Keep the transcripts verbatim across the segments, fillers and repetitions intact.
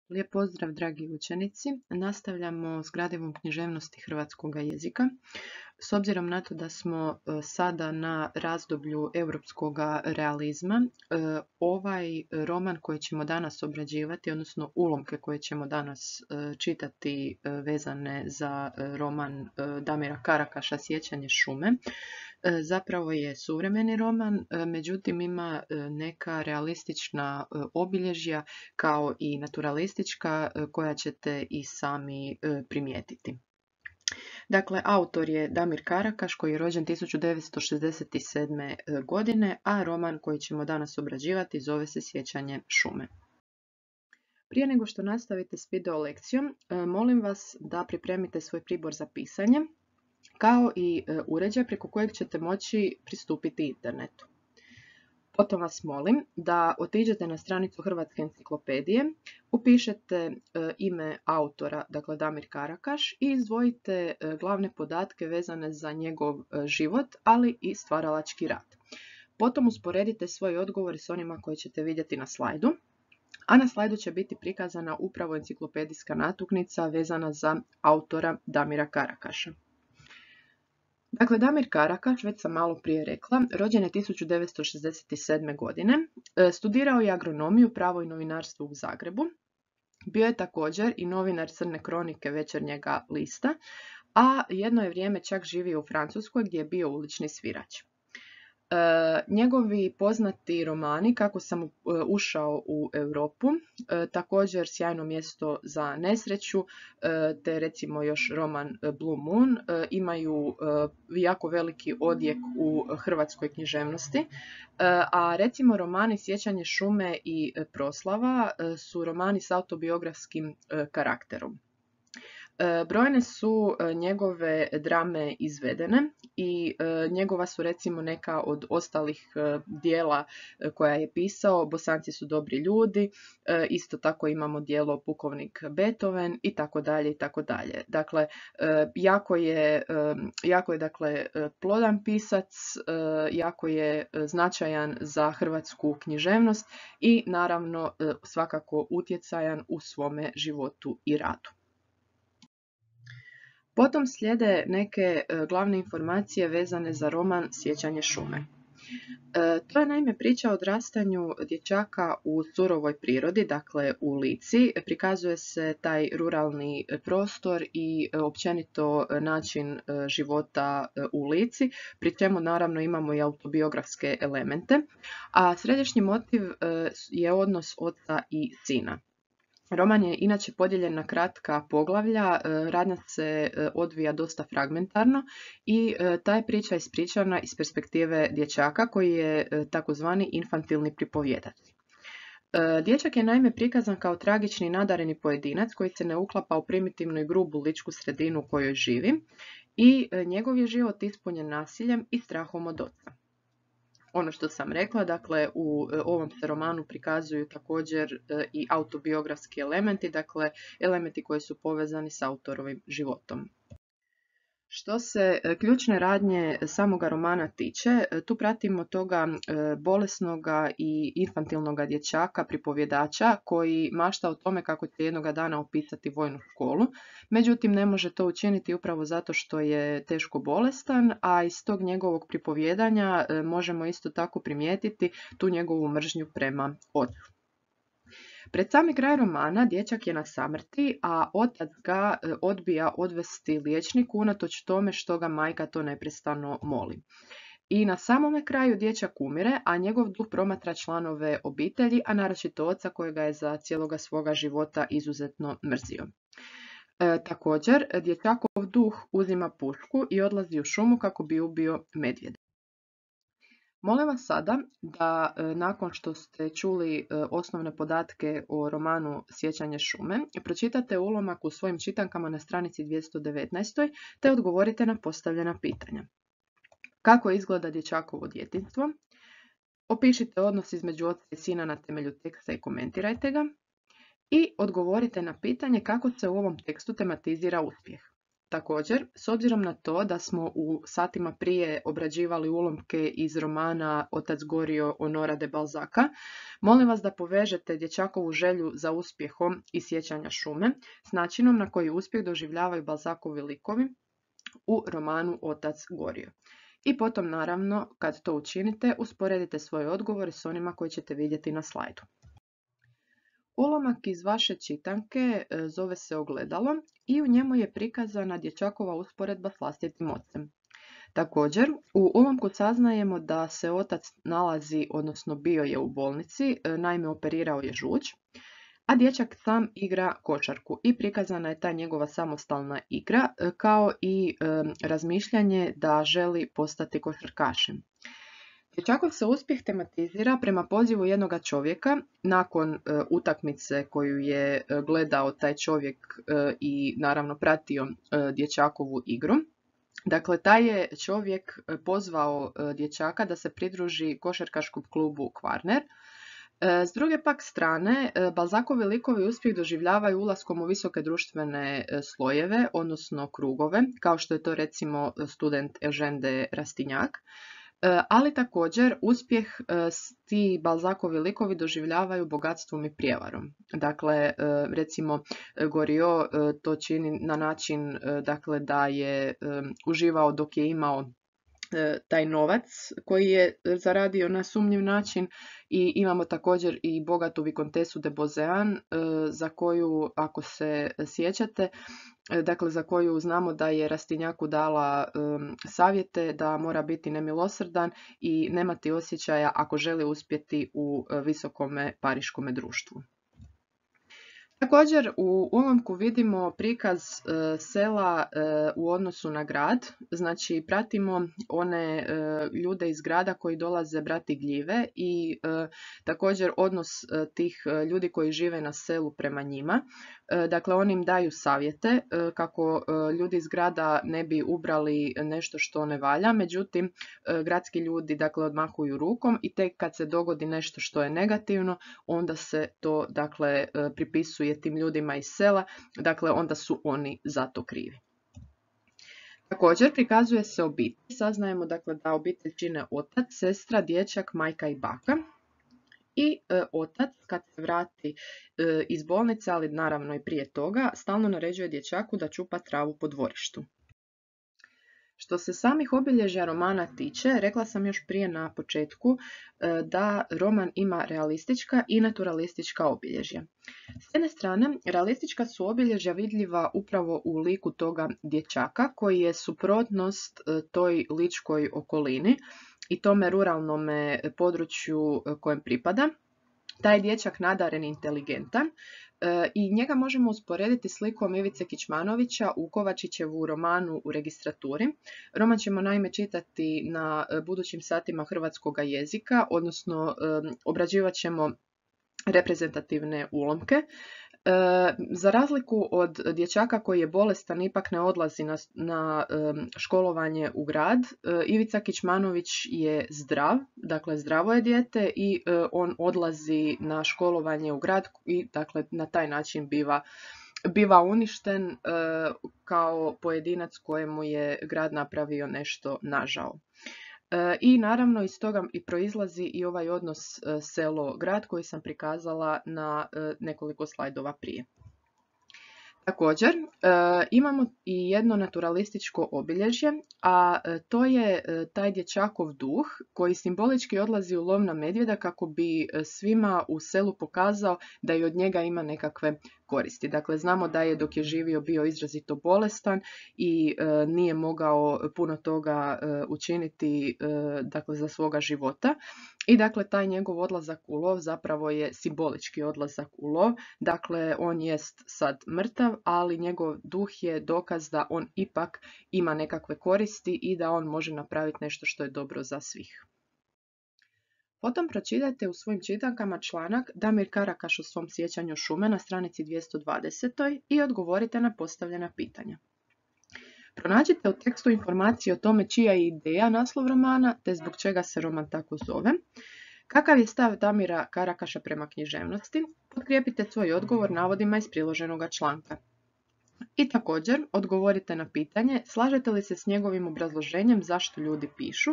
Lijep pozdrav, dragi učenici. Nastavljamo s gradivom književnosti hrvatskog jezika. S obzirom na to da smo sada na razdoblju europskog realizma, ovaj roman koji ćemo danas obrađivati, odnosno ulomke koje ćemo danas čitati vezane za roman Damira Karakaša Sjećanje šume, zapravo je suvremeni roman, međutim ima neka realistična obilježja kao i naturalistička koja ćete i sami primijetiti. Dakle, autor je Damir Karakaš koji je rođen tisuću devetsto šezdeset sedme. godine, a roman koji ćemo danas obrađivati zove se Sjećanje šume. Prije nego što nastavite s video lekcijom, molim vas da pripremite svoj pribor za pisanje, kao i uređaj preko kojeg ćete moći pristupiti internetu. Potom vas molim da otiđete na stranicu Hrvatske enciklopedije, upišete ime autora, dakle Damir Karakaš, i izdvojite glavne podatke vezane za njegov život, ali i stvaralački rad. Potom usporedite svoj odgovor s onima koje ćete vidjeti na slajdu, a na slajdu će biti prikazana upravo enciklopedijska natuknica vezana za autora Damira Karakaša. Dakle, Damir Karakaš, već sam malo prije rekla, rođen je tisuću devetsto šezdeset sedme. godine, studirao je agronomiju, pravo i novinarstvo u Zagrebu, bio je također i novinar Crne kronike Večernjega lista, a jedno je vrijeme čak živio u Francuskoj gdje je bio ulični svirač. E, njegovi poznati romani Kako sam ušao u Europu, e, također Sjajno mjesto za nesreću, e, te recimo još roman Blue Moon, e, imaju e, jako veliki odjek u hrvatskoj književnosti, e, a recimo romani Sjećanje šume i Proslava e, su romani s autobiografskim e, karakterom. Brojne su njegove drame izvedene i njegova su recimo neka od ostalih dijela koja je pisao Bosanci su dobri ljudi, isto tako imamo dijelo Pukovnik Beethoven i tako dalje i tako dalje. Dakle, jako je, jako je dakle plodan pisac, jako je značajan za hrvatsku književnost i naravno svakako utjecajan u svome životu i radu. Potom slijede neke glavne informacije vezane za roman Sjećanje šume. To je naime priča o odrastanju dječaka u surovoj prirodi, dakle u Lici. Prikazuje se taj ruralni prostor i općenito način života u Lici, pri čemu naravno imamo i autobiografske elemente, a središnji motiv je odnos oca i sina. Roman je inače podijeljen na kratka poglavlja, radnja se odvija dosta fragmentarno i ta je priča ispričana iz perspektive dječaka koji je takozvani infantilni pripovjedač. Dječak je naime prikazan kao tragični i nadareni pojedinac koji se ne uklapa u primitivnu i grubu ličku sredinu u kojoj živi i njegov je život ispunjen nasiljem i strahom od oca. Ono što sam rekla, dakle u ovom se romanu prikazuju također i autobiografski elementi, dakle elementi koji su povezani s autorovim životom. Što se ključne radnje samoga romana tiče, tu pratimo toga bolesnoga i infantilnoga dječaka, pripovjedača, koji mašta o tome kako će jednoga dana opisati vojnu školu, međutim ne može to učiniti upravo zato što je teško bolestan, a iz tog njegovog pripovjedanja možemo isto tako primijetiti tu njegovu mržnju prema ocu. Pred sami kraj romana dječak je na samrti, a otac ga odbija odvesti liječniku unatoč tome što ga majka to neprestano moli. I na samome kraju dječak umire, a njegov duh promatra članove obitelji, a naročito oca kojega je za cijeloga svoga života izuzetno mrzio. E, također, dječakov duh uzima pušku i odlazi u šumu kako bi ubio medvjeda. Molim vas sada da nakon što ste čuli osnovne podatke o romanu Sjećanje šume, pročitate ulomak u svojim čitankama na stranici dvjesto devetnaest te odgovorite na postavljena pitanja. Kako izgleda dječakovo djetinjstvo? Opišite odnos između oca i sina na temelju teksta i komentirajte ga. I odgovorite na pitanje kako se u ovom tekstu tematizira uspjeh. Također, s obzirom na to da smo u satima prije obrađivali ulomke iz romana Otac Goriot Honorea de Balzaca, molim vas da povežete dječakovu želju za uspjehom i sjećanja šume s načinom na koji uspjeh doživljavaju Balzacovi likovi u romanu Otac Goriot. I potom, naravno, kad to učinite, usporedite svoje odgovore s onima koje ćete vidjeti na slajdu. Ulomak iz vaše čitanke zove se Ogledalo i u njemu je prikazana dječakova usporedba s vlastitim ocem. Također, u ulomku saznajemo da se otac nalazi, odnosno bio je u bolnici, naime operirao je žuč, a dječak sam igra košarku i prikazana je ta njegova samostalna igra kao i e, razmišljanje da želi postati košarkašem. Dječakov se uspjeh tematizira prema pozivu jednoga čovjeka nakon e, utakmice koju je e, gledao taj čovjek e, i naravno pratio e, dječakovu igru. Dakle, taj je čovjek pozvao e, dječaka da se pridruži košarkaškom klubu Kvarner. E, s druge pak strane, e, Balzacovi likovi uspjeh doživljavaju ulaskom u visoke društvene e, slojeve, odnosno krugove, kao što je to recimo student Eugène de Rastignac. Ali također uspjeh ti Balzacovi likovi doživljavaju bogatstvom i prijevarom. Dakle, recimo Goriot to čini na način dakle, da je uživao dok je imao taj novac koji je zaradio na sumnjiv način i imamo također i bogatu vikontesu de Beauséant za koju, ako se sjećate, dakle za koju znamo da je Rastignacu dala um, savjete da mora biti nemilosrdan i nemati osjećaja ako želi uspjeti u uh, visokome pariškome društvu. Također u ulomku vidimo prikaz e, sela e, u odnosu na grad, znači pratimo one e, ljude iz grada koji dolaze brati gljive i e, također odnos e, tih ljudi koji žive na selu prema njima. E, dakle, oni im daju savjete e, kako e, ljudi iz grada ne bi ubrali nešto što ne valja, međutim e, gradski ljudi dakle odmahuju rukom i tek kad se dogodi nešto što je negativno, onda se to dakle e, pripisuje tim ljudima iz sela, dakle onda su oni za to krivi. Također prikazuje se obitelj, saznajemo dakle da obitelj čine otac, sestra, dječak, majka i baka. I e, otac kad se vrati e, iz bolnice, ali naravno i prije toga, stalno naređuje dječaku da čupa travu po dvorištu. Što se samih obilježja romana tiče, rekla sam još prije na početku da roman ima realistička i naturalistička obilježja. S jedne strane, realistička su obilježja vidljiva upravo u liku toga dječaka koji je suprotnost toj ličkoj okolini i tome ruralnome području kojem pripada. Taj dječak nadaren i inteligentan i njega možemo usporediti s likom Ivice Kičmanovića u Kovačićevu romanu U registraturi. Roman ćemo naime čitati na budućim satima hrvatskog jezika, odnosno obrađivat ćemo reprezentativne ulomke. E, za razliku od dječaka koji je bolestan, ipak ne odlazi na, na e, školovanje u grad, e, Ivica Kičmanović je zdrav, dakle zdravo je dijete i e, on odlazi na školovanje u grad i dakle na taj način biva, biva uništen e, kao pojedinac kojemu je grad napravio nešto nažao. I naravno iz toga i proizlazi i ovaj odnos selo-grad koji sam prikazala na nekoliko slajdova prije. Također imamo i jedno naturalističko obilježje, a to je taj dječakov duh koji simbolički odlazi u lov na medvjeda kako bi svima u selu pokazao da i od njega ima nekakve koristi. Dakle, znamo da je dok je živio bio izrazito bolestan i e, nije mogao puno toga e, učiniti e, dakle, za svoga života. I dakle, taj njegov odlazak u lov zapravo je simbolički odlazak u lov. Dakle, on jest sad mrtav, ali njegov duh je dokaz da on ipak ima nekakve koristi i da on može napraviti nešto što je dobro za svih. Potom pročitajte u svojim čitankama članak Damir Karakaš o svom sjećanju šume na stranici dvjesto dvadeset i odgovorite na postavljena pitanja. Pronađite u tekstu informacije o tome čija je ideja naslov romana te zbog čega se roman tako zove. Kakav je stav Damira Karakaša prema književnosti? Potkrijepite svoj odgovor navodima iz priloženoga članka. I također odgovorite na pitanje slažete li se s njegovim obrazloženjem zašto ljudi pišu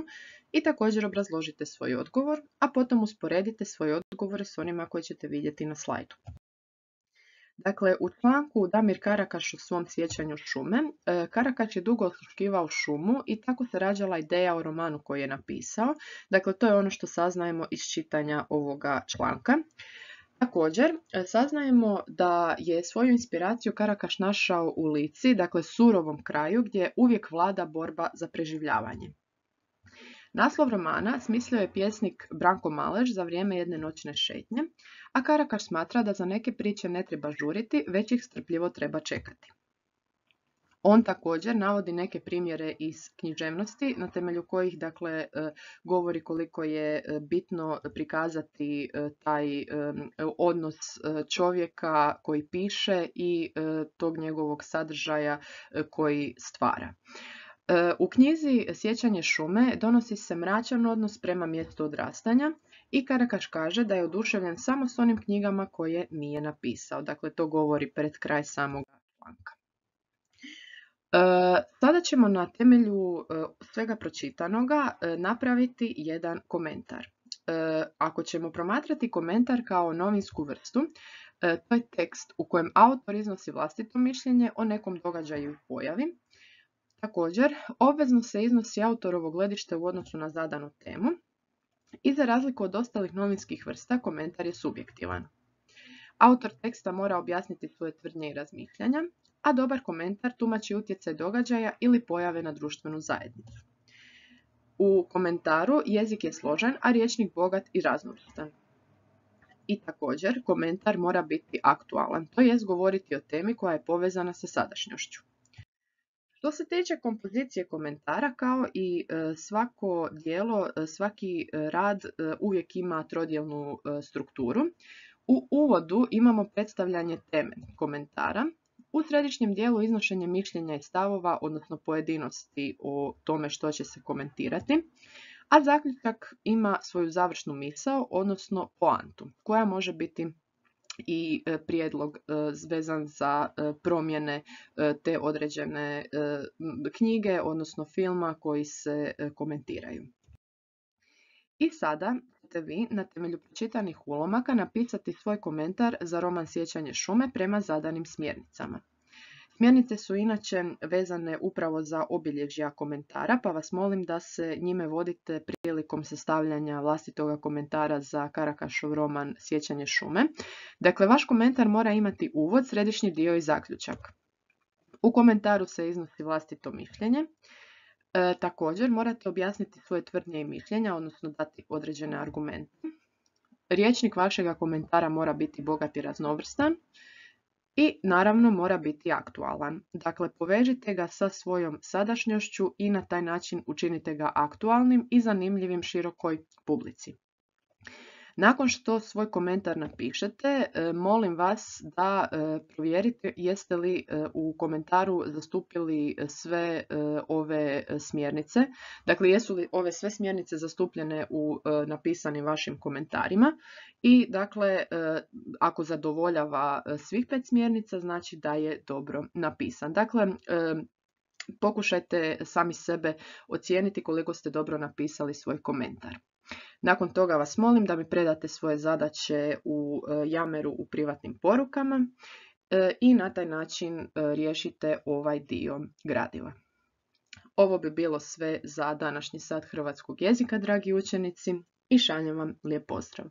i također obrazložite svoj odgovor, a potom usporedite svoje odgovore s onima koje ćete vidjeti na slajdu. Dakle, u članku Damir Karakaš o svom sjećanju šume, Karakaš je dugo osluškivao šumu i tako se rađala ideja o romanu koji je napisao. Dakle, to je ono što saznajemo iz čitanja ovoga članka. Također, saznajemo da je svoju inspiraciju Karakaš našao u Lici, dakle surovom kraju gdje uvijek vlada borba za preživljavanje. Naslov romana smislio je pjesnik Branko Maleš za vrijeme jedne noćne šetnje, a Karakaš smatra da za neke priče ne treba žuriti, već ih strpljivo treba čekati. On također navodi neke primjere iz književnosti na temelju kojih dakle, govori koliko je bitno prikazati taj odnos čovjeka koji piše i tog njegovog sadržaja koji stvara. U knjizi Sjećanje šume donosi se mračan odnos prema mjestu odrastanja i Karakaš kaže da je oduševljen samo s onim knjigama koje nije napisao. Dakle, to govori pred kraj samog članka. Sada ćemo na temelju svega pročitanoga napraviti jedan komentar. Ako ćemo promatrati komentar kao novinsku vrstu, to je tekst u kojem autor iznosi vlastito mišljenje o nekom događaju i pojavi. Također, obvezno se iznosi autorovo gledište u odnosu na zadanu temu i za razliku od ostalih novinskih vrsta, komentar je subjektivan. Autor teksta mora objasniti svoje tvrdnje i razmišljanja, a dobar komentar tumači utjecaj događaja ili pojave na društvenu zajednicu. U komentaru jezik je složen, a rječnik bogat i raznovrstan. I također, komentar mora biti aktualan, to jest govoriti o temi koja je povezana sa sadašnjošću. Što se tiče kompozicije komentara, kao i svako djelo, svaki rad uvijek ima trodjelnu strukturu. U uvodu imamo predstavljanje teme komentara, u središnjem dijelu iznošenje mišljenja i stavova, odnosno pojedinosti o tome što će se komentirati, a zaključak ima svoju završnu misao, odnosno poantu, koja može biti i prijedlog vezan za promjene te određene knjige, odnosno filma koji se komentiraju. I sada ćete vi na temelju pročitanih ulomaka napisati svoj komentar za roman Sjećanje šume prema zadanim smjernicama. Smjernice su inače vezane upravo za obilježja komentara, pa vas molim da se njime vodite prilikom sastavljanja vlastitoga komentara za Karakašov roman Sjećanje šume. Dakle, vaš komentar mora imati uvod, središnji dio i zaključak. U komentaru se iznosi vlastito mišljenje. E, također morate objasniti svoje tvrdnje i mišljenja, odnosno dati određene argumente. Rječnik vašega komentara mora biti bogat i raznovrstan. I naravno mora biti aktualan. Dakle, povežite ga sa svojom sadašnjošću i na taj način učinite ga aktualnim i zanimljivim širokoj publici. Nakon što svoj komentar napišete, molim vas da provjerite jeste li u komentaru zastupili sve ove smjernice. Dakle, jesu li ove sve smjernice zastupljene u napisanim vašim komentarima i dakle, ako zadovoljava svih pet smjernica, znači da je dobro napisan. Dakle, pokušajte sami sebe ocijeniti koliko ste dobro napisali svoj komentar. Nakon toga vas molim da mi predate svoje zadaće u Yammeru u privatnim porukama i na taj način riješite ovaj dio gradiva. Ovo bi bilo sve za današnji sat hrvatskog jezika, dragi učenici, i šaljem vam lijep pozdrav.